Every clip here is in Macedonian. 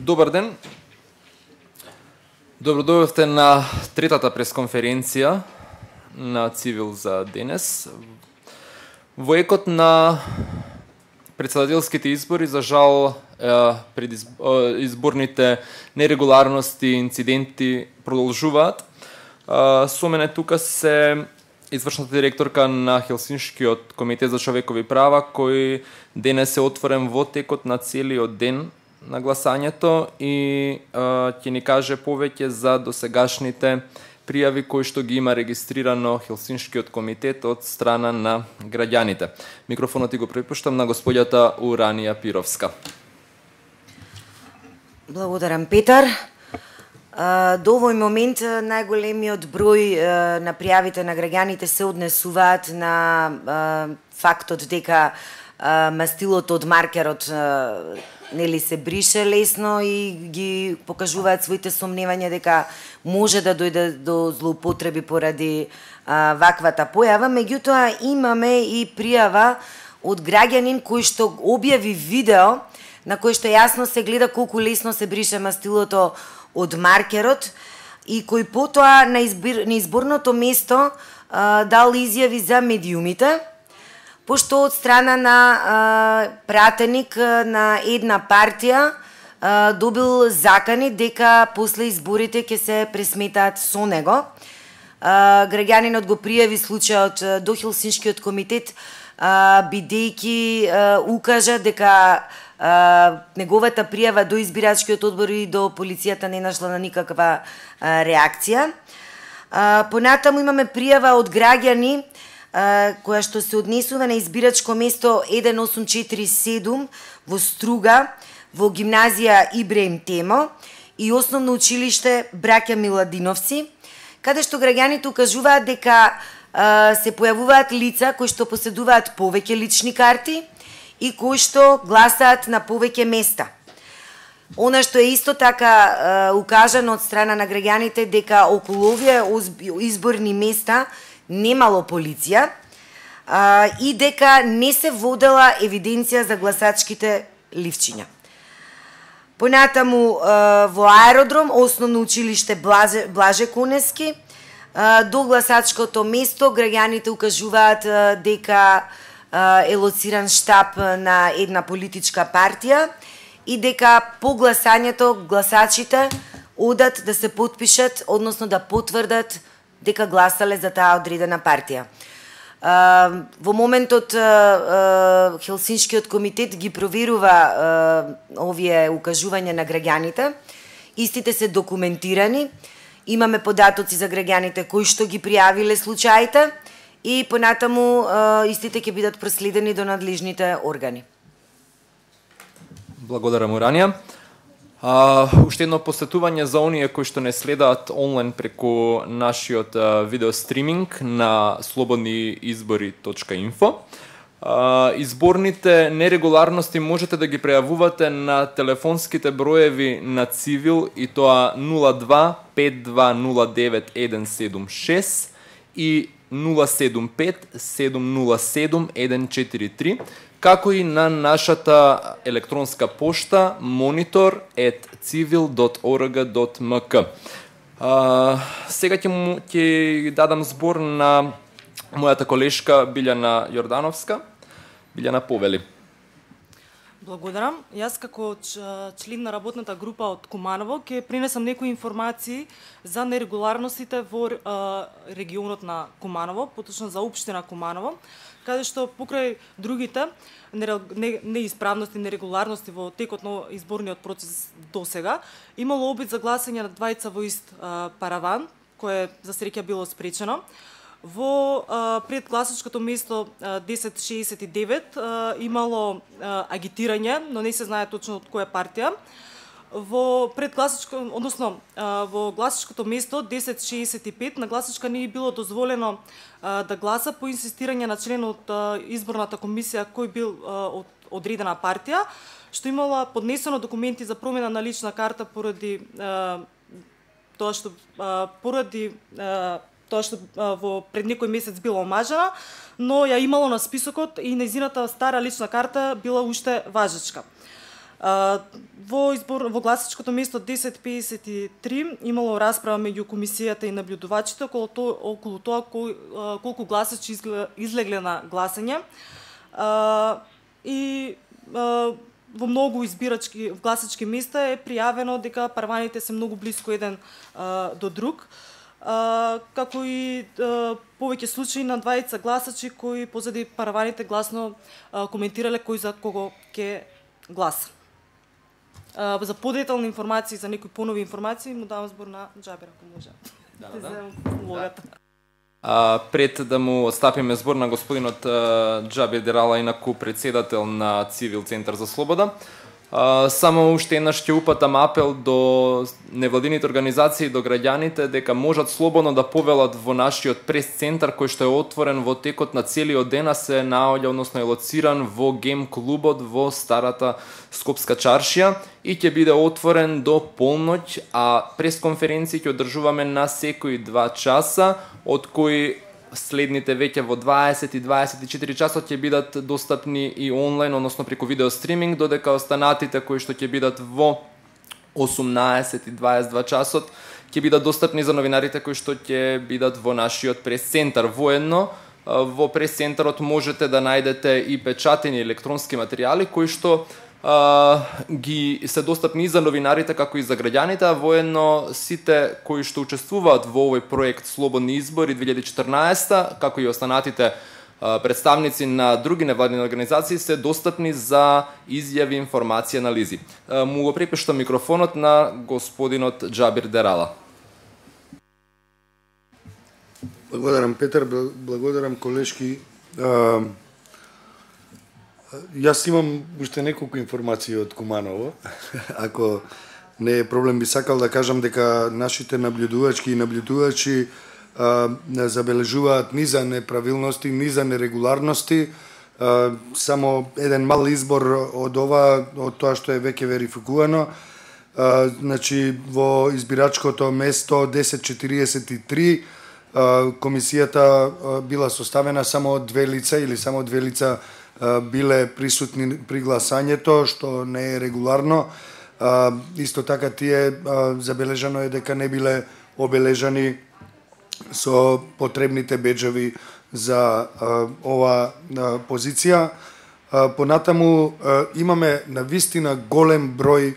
Добар ден. Добродојавте на третата пресконференција на Цивил за денес. Во екот на председателските избори, за жал, изборните нерегуларности и инциденти продолжуваат. Со мене тука се извршната директорка на Хелсиншкиот комитет за човекови права, кој денес е отворен во текот на целиот ден на гласањето и ќе ни каже повеќе за досегашните пријави кои што ги има регистрирано Хелсиншкиот комитет од страна на граѓаните. Микрофонот ти го препуштам на господјата Уранија Пировска. Благодарам, Петар. До овој момент најголемиот број на пријавите на граѓаните се однесуваат на фактот дека мастилото од маркерот нели се брише лесно и ги покажуваат своите сомневања дека може да дојде до злоупотреби поради ваквата појава. Меѓутоа имаме и пријава од граѓанин кој што објави видео на кој што јасно се гледа колку лесно се брише мастилото од маркерот и кој потоа на изборното место дал изјави за медиумите, пошто од страна на пратеник на една партија добил закани дека после изборите ќе се пресметаат со него. Граѓанинот го пријави случајот до Хелсиншкиот комитет, бидејќи укажа дека неговата пријава до избирачкиот одбор и до полицијата не нашла на никаква реакција. Понатаму имаме пријава од граѓани која што се однесува на избирачко место 1847 во Струга, во гимназија Ибраим Темо и основно училиште Браќа Миладиновци, каде што граѓаните укажуваат дека се појавуваат лица кои што поседуваат повеќе лични карти и кои што гласаат на повеќе места. Она што е исто така укажано од страна на граѓаните дека околу овие изборни места немало полиција и дека не се водела евиденција за гласачките ливчиња. Понатаму во аеродром, основно училиште Блаже Конески, до гласачкото место граѓаните укажуваат дека е лоциран штаб на една политичка партија и дека по гласањето гласачите одат да се потпишат, односно да потврдат дека гласале за таа одредена партија. Во моментот Хелсиншкиот комитет ги проверува овие укажувања на граѓаните. Истите се документирани. Имаме податоци за граѓаните кои што ги пријавиле случаите и понатаму истите ќе бидат проследени до надлежните органи. Благодарам, Уранија. Уште едно посетување за оние кои што не следаат онлайн преку нашиот видео стриминг на slobodniizbori.info. Изборните нерегуларности можете да ги прејавувате на телефонските броеви на Цивил и тоа 02 5209 176 и 075 707 143, како и на нашата електронска пошта monitor@civil.org.mk. Сега ќе дадам збор на мојата колешка Билјана Јордановска. Билјана, повели. Благодарам. Јас како член на работната група од Куманово ќе пренесам некои информации за нерегуларностите во регионот на Куманово, поточно за општина Куманово, каде што покрај другите неисправности, нерегуларности во текот на изборниот процес досега, имало обид за гласање на двајца во ист параван, кое за среќа било спречено. Во предгласачкото место 1069 имало агитирање, но не се знае точно од која партија. Во во гласачкото место 1065 на гласачка не било дозволено да гласа по инсистирање на член од изборната комисија кој бил од одредена партија, што имала поднесено документи за промена на лична карта поради тоа што во пред некој месец била омажена, но ја имало на списокот и нејзината стара лична карта била уште важечка. Во гласачкото место 1053 имало расправа меѓу комисијата и наблюдувачите околу тоа колку гласачи излегле на гласање. И во многу гласачки места е пријавено дека параваните се многу блиску еден до друг, како и повеќе случаи на двајца гласачи кои позади параваните гласно коментирале кој за кого ќе гласа. За подетални информации, за некои понови информации, му давам збор на Џабир, ако може. Пред да му отстапиме збор на господинот Џабир Дерала, инаку председател на Цивил Центар за слобода, само уште еднаш ќе упатам апел до невладините организации, до граѓаните, дека можат слободно да повелат во нашиот прес-центар, кој што е отворен во текот на целиот ден, а се наоѓа, односно е лоциран во гем клубот во старата Скопска чаршија и ќе биде отворен до полноќ, а пресконференции ќе одржуваме на секои 2 часа, од кои следните веќе во 20 и 24 часот ќе бидат достапни и онлайн, односно преку видео стриминг, додека останатите кои што ќе бидат во 18 и 22 часот ќе бидат достапни за новинарите кои што ќе бидат во нашиот прес-центар. Воедно, во прес-центарот можете да најдете и печатени електронски материјали кои што ги се достапни и за новинарите како и за граѓаните, а воедно сите кои што учествуваат во овој проект Слободни избори 2014, како и останатите представници на други невладини организации се достапни за изјави, информации, анализи. Му го препуштам микрофонот на господинот Џабир Дерала. Благодарам, Петар, благодарам, колешки. Јас имам уште неколку информации од Куманово. Ако не е проблем, би сакал да кажам дека нашите наблюдувачки и наблюдувачи забележуваат низа неправилности, низа нерегуларности. Само еден мал избор од тоа што е веќе верификувано. Значи, во избирачкото место 1043 комисијата била составена само од 2 лица или само 2 лица биле присутни при гласањето, што не е регуларно. Исто така тие забележано е дека не биле обележани со потребните беџеви за ова позиција. Понатаму имаме навистина голем број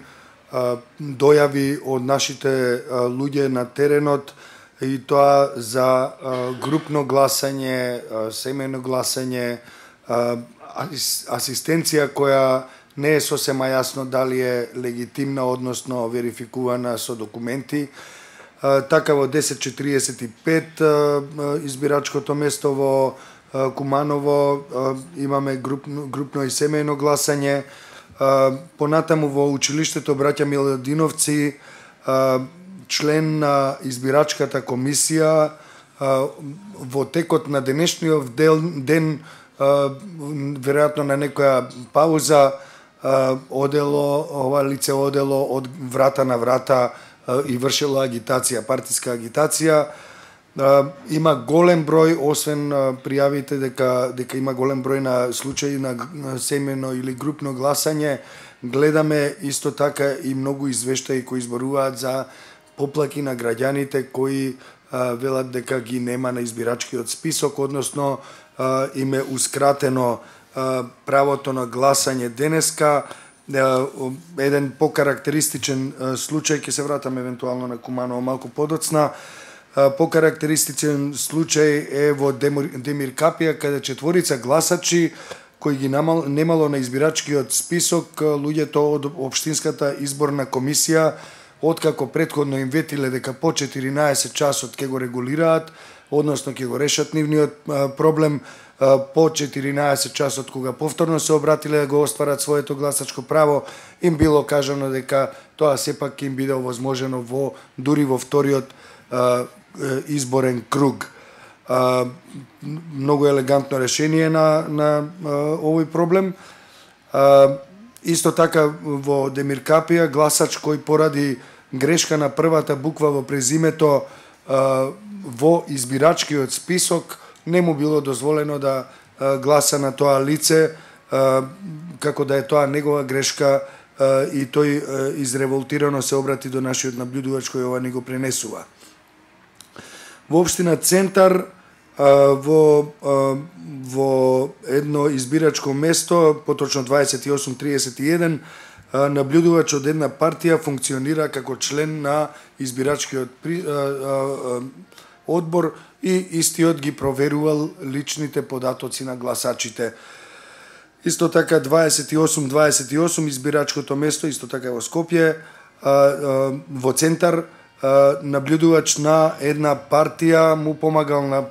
дојави од нашите луѓе на теренот, и тоа за групно гласање, семејно гласање, асистенција која не е сосема јасно дали е легитимна, односно верификувана со документи. Така во 1045 избирачкото место во Куманово имаме групно и семејно гласање. Понатаму во училиштето Браќа Миладиновци член на избирачката комисија во текот на денешниот ден, веројатно на некоја пауза, ова лице одело од врата на врата и вршело агитација, партиска агитација. Има голем број, освен пријавите дека има голем број на случаи на семејно или групно гласање, гледаме исто така и многу извештаи кои изборуваат за поплаки на граѓаните кои велат дека ги нема на избирачкиот список, односно им е ускратено правото на гласање денеска. Еден покарактеристичен случај, ќе се вратам евентуално на Куманово малку подоцна, покарактеристичен случај е во Демир Капија, каде 4 гласачи кои ги немало на избирачкиот список, луѓето од Општинската изборна комисија, откако претходно им ветиле дека по 14 часот ќе го регулираат, односно ќе го решат нивниот проблем, по 14 часот кога повторно се обратиле да го остварат своето гласачко право, им било кажано дека тоа сепак им биде овозможено дури во вториот изборен круг. Многу елегантно решение на овој проблем. Исто така во Демир Капија гласач кој поради грешка на првата буква во презимето во избирачкиот список не му било дозволено да гласа на тоа лице, како да е тоа негова грешка, и тој изреволтирано се обрати до нашиот наблюдувач кој ова ни го пренесува. Во општина Центар во едно избирачко место, поточно 2831, наблюдувач од една партија функционира како член на избирачкиот одбор и истиот ги проверувал личните податоци на гласачите. Исто така 2828 избирачкото место, исто така во Скопје, во Центар, наблюдувач на една партија му помагал на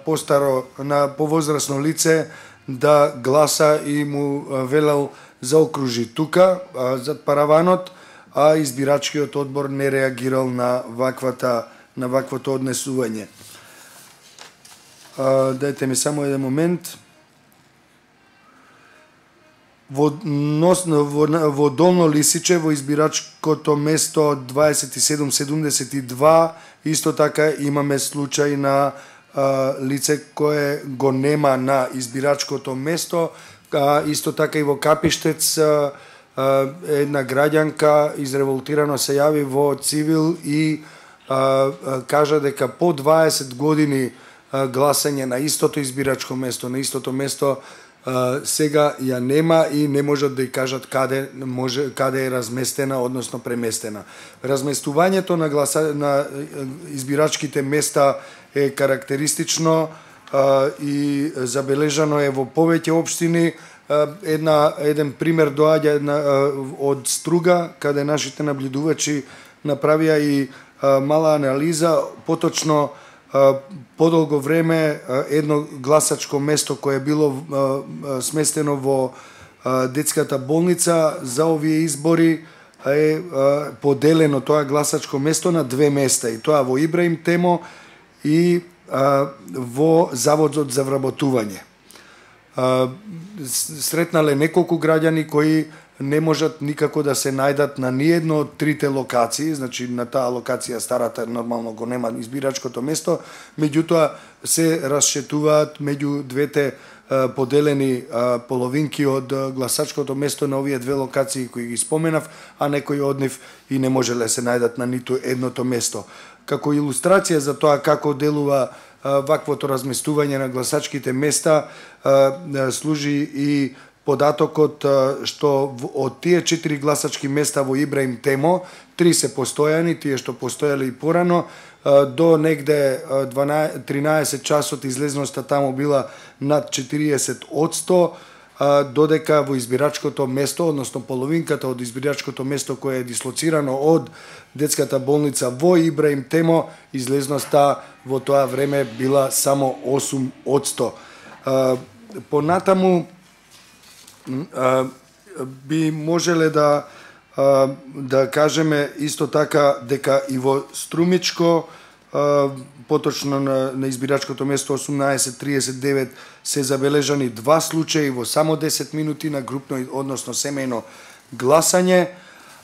повозрасно лице да гласа и му велел заокружи тука зад параванот, а избирачкиот одбор не реагирал на ваквото однесување. Дајте ми само еден момент. Во Долно Лисиче, во избирачкото место 2772, исто така имаме случај на лице кое го нема на избирачкото место, исто така и во Капиштец една граѓанка изреволтирано се јави во цивил и кажа дека по 20 години гласање на истото избирачко место, на истото место, сега ја нема и не можат да ја кажат каде е разместена, односно преместена. Разместувањето на избирачките места е карактеристично и забележано е во повеќе општини. Еден пример доаѓа од Струга, каде нашите наблюдувачи направија и мала анализа, поточно подолго време едно гласачко место кое било сместено во детската болница за овие избори е поделено тоа гласачко место на две места, и тоа во Ибраим Темо и во Заводот за вработување. Сретнале неколку граѓани кои не можат никако да се најдат на ниедно од трите локации, значи на таа локација старата нормално го нема избирачкото место, меѓутоа се расшетуваат меѓу двете поделени половинки од гласачкото место на овие две локации кои ги споменав, а некои од нив и не можеле се најдат на ниту едното место. Како илустрација за тоа како делува ваквото разместување на гласачките места, служи и податокот што од тие 4 гласачки места во Ибраим Темо, 3 се постојани, тие што постоеле и порано, до негде 13 часот излезноста таму била над 40%, додека во избирачкото место, односно половинката од избирачкото место кое е дислоцирано од детската болница во Ибраим Темо, излезноста во тоа време била само 8%. Понатаму би можеле да кажеме исто така дека и во Струмичко, поточно на избирачкото место 1839 се забележани 2 случаи во само 10 минути на групно, односно семејно гласање,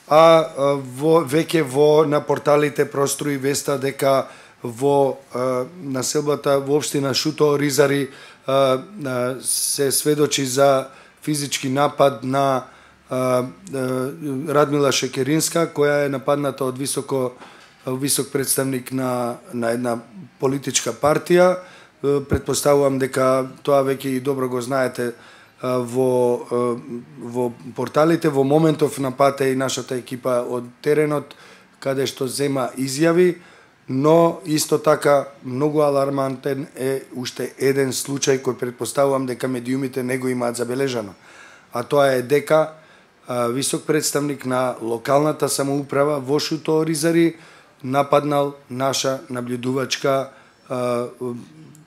а веќе на порталите прострои веста дека во населбата во општина Шуто Ризари се сведочи за физички напад на Радмила Шекеринска, која е нападната од висок представник на една политичка партија. Предпоставувам дека тоа веќе и добро го знаете во порталите. Во моментов на пат е и нашата екипа од теренот, каде што зема изјави, но исто така многу алармантен е уште еден случај кој предпоставувам дека медиумите не го имаат забележано. А тоа е дека висок представник на локалната самоуправа во Шуто Ризари нападнал наша наблюдувачка,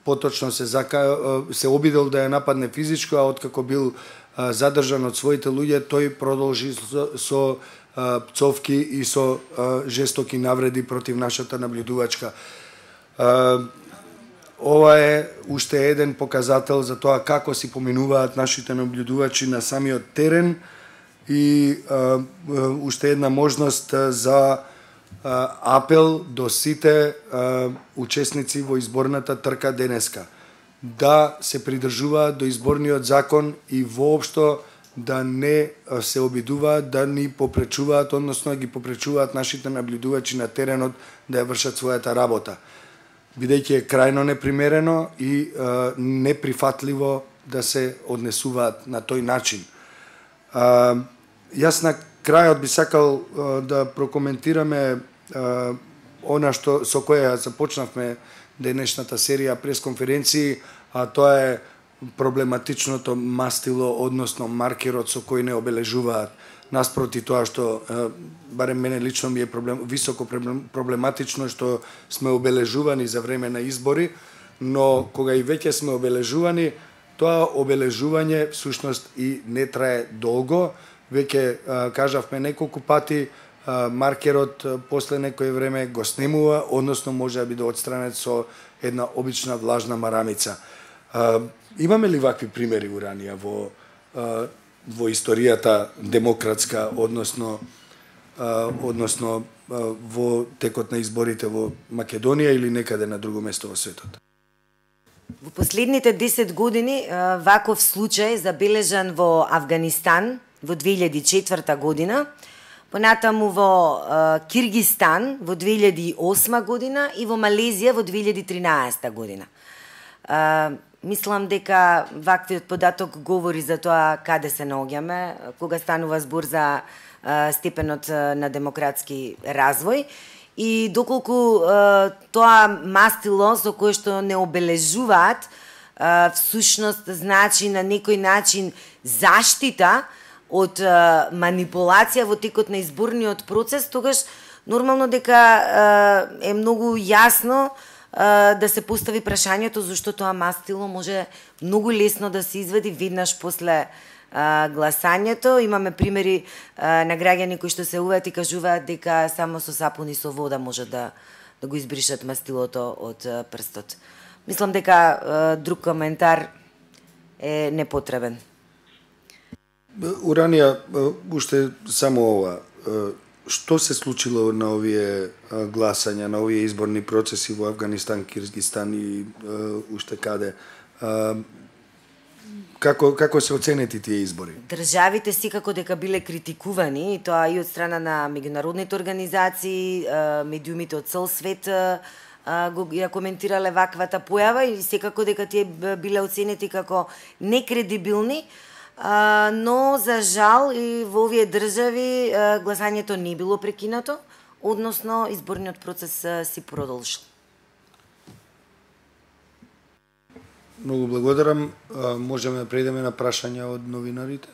поточно се обидел да ја нападне физичко, а откако бил задржан од своите луѓе, тој продолжи со пцовки и со жестоки навреди против нашата наблюдувачка. Ова е уште еден показател за тоа како си поминуваат нашите наблюдувачи на самиот терен и уште една можност за апел до сите учесници во изборната трка денеска да се придржуваат до изборниот закон и воопшто да не се обидуваат да ни попречуваат, односно ги попречуваат нашите наблюдувачи на теренот да ја вршат својата работа, бидејќи е крајно непримерено и неприфатливо да се однесуваат на тој начин. Јас на крајот би сакал да прокоментираме она што со кое започнавме денешната серија пресконференции, а тоа е проблематичното мастило, односно маркерот со кој не обележуваат, наспроти тоа што барем мене лично ми е високо проблематично што сме обележувани за време на избори, но кога и веќе сме обележувани, тоа обележување всушност и не трае долго. Веќе кажавме неколку пати, маркерот после некое време го снемува, односно може да биде отстранет со една обична влажна марамица. Имаме ли вакви примери уранија во историјата демократска, односно во текот на изборите во Македонија или некаде на друго место во светот? Во последните 10 години ваков случај забележан во Авганистан во 2004 година, понатаму во Киргистан во 2008 година и во Малезија во 2013 година. Мислам дека ваквиот податок говори за тоа каде се наоѓаме, кога станува збор за степенот на демократски развој и доколку тоа мастило со кое што не обележуваат всушност значи на некој начин заштита од манипулација во текот на изборниот процес, тогаш нормално дека е многу јасно да се постави прашањето зашто тоа мастило може многу лесно да се извади веднаш после гласањето. Имаме примери на граѓани кои што се уват и кажуваат дека само со сапун и со вода може да го избришат мастилото од прстот. Мислам дека друг коментар е непотребен. Уранија, уште само ова. Што се случило на овие гласања, на овие изборни процеси во Авганистан, Киргизстан и уште каде? Како се оценети тие избори? Државите секако дека биле критикувани, и тоа и од страна на меѓународните организации, медиумите од цел свет ја коментирале ваквата појава и секако дека тие биле оценети како некредибилни, но за жал и во овие држави гласањето не било прекинато, односно изборниот процес си продолжил. Многу благодарам. Можеме да преидеме на прашања од новинарите?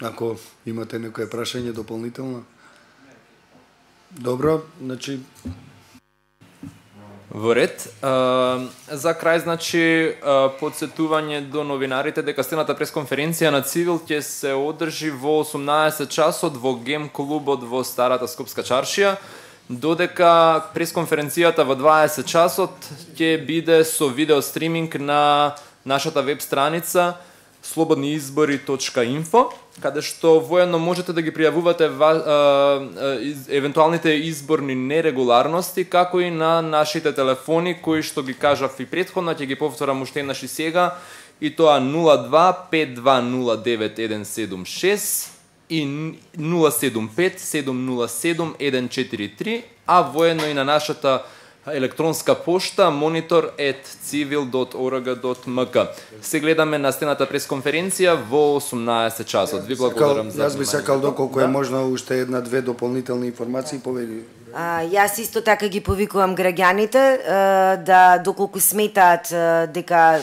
Ако имате некое прашање дополнително. Добро, значи во ред. За крај, значи, подсетување до новинарите дека следната пресконференција на Цивил ќе се одржи во 18 часот во Гем клубот во Старата Скопска чаршија, додека пресконференцијата во 20 часот ќе биде со видео стриминг на нашата веб страница slobodniizbori.info, каде што воедно можете да ги пријавувате евентуалните изборни нерегуларности, како и на нашите телефони, кои што ги кажав и претходно, ќе ги повторам уште еднаш и сега, и тоа 02-5209-176 и 075-707-143, а воедно и на нашата електронска пошта monitor@civil.org.mk. Се гледаме на стената пресконференција во 18 часот. Ви благодарам за внимание. Јас би сакал доколку е можно уште една-две дополнителни информации поведи. Јас исто така ги повикувам граѓаните да доколку сметаат дека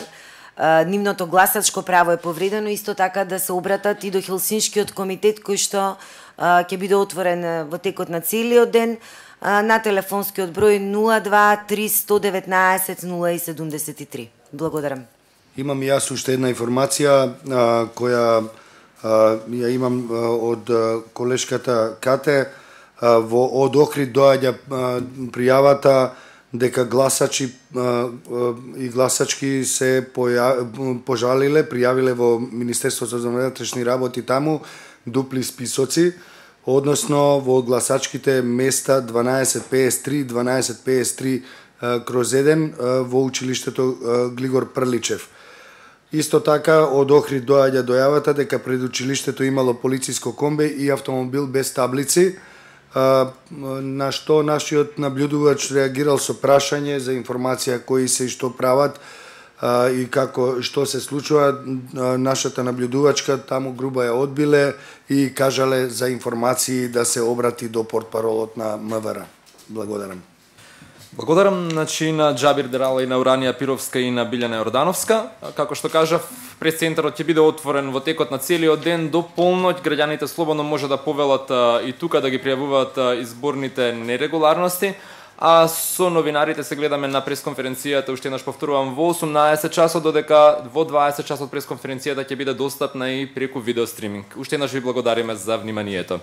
нивното гласачко право е повредено, исто така да се обратат и до Хелсиншкиот комитет кој што ќе биде отворен во текот на целиот ден на телефонскиот број 02-3-119-073. Благодарам. Имам јас уште една информација која ја имам од колешката Кате. Од Охрид доаѓа пријавата дека гласачи и гласачки се пожалиле, пријавиле во Министерството за внатрешни работи таму дупли списоци, односно во гласачките места 1253, 1253/1 во училиштето Глигор Прличев. Исто така, од Охрид доаѓа дојавата дека пред училиштето имало полициско комбе и автомобил без таблици, на што нашиот наблюдувач реагирал со прашање за информација кои се и што прават и како што се случува. Нашата наблюдувачка таму грубо ја одбиле и кажале за информации да се обрати до портпаролот на МВР. Благодарам. Благодарам на Џабир Дерала и на Уранија Пировска и на Билјана Јордановска. Како што кажав, пресцентарот ќе биде отворен во текот на целиот ден до полноќ. Граѓаните слободно може да повелат и тука да ги пријавуваат изборните нерегуларности. А со новинарите се гледаме на пресконференцијата, уште еднаш повторувам, во 18 часот, додека во 20 часот пресконференцијата ќе биде достапна и преку видеостриминг. Уште еднаш ви благодариме за вниманието.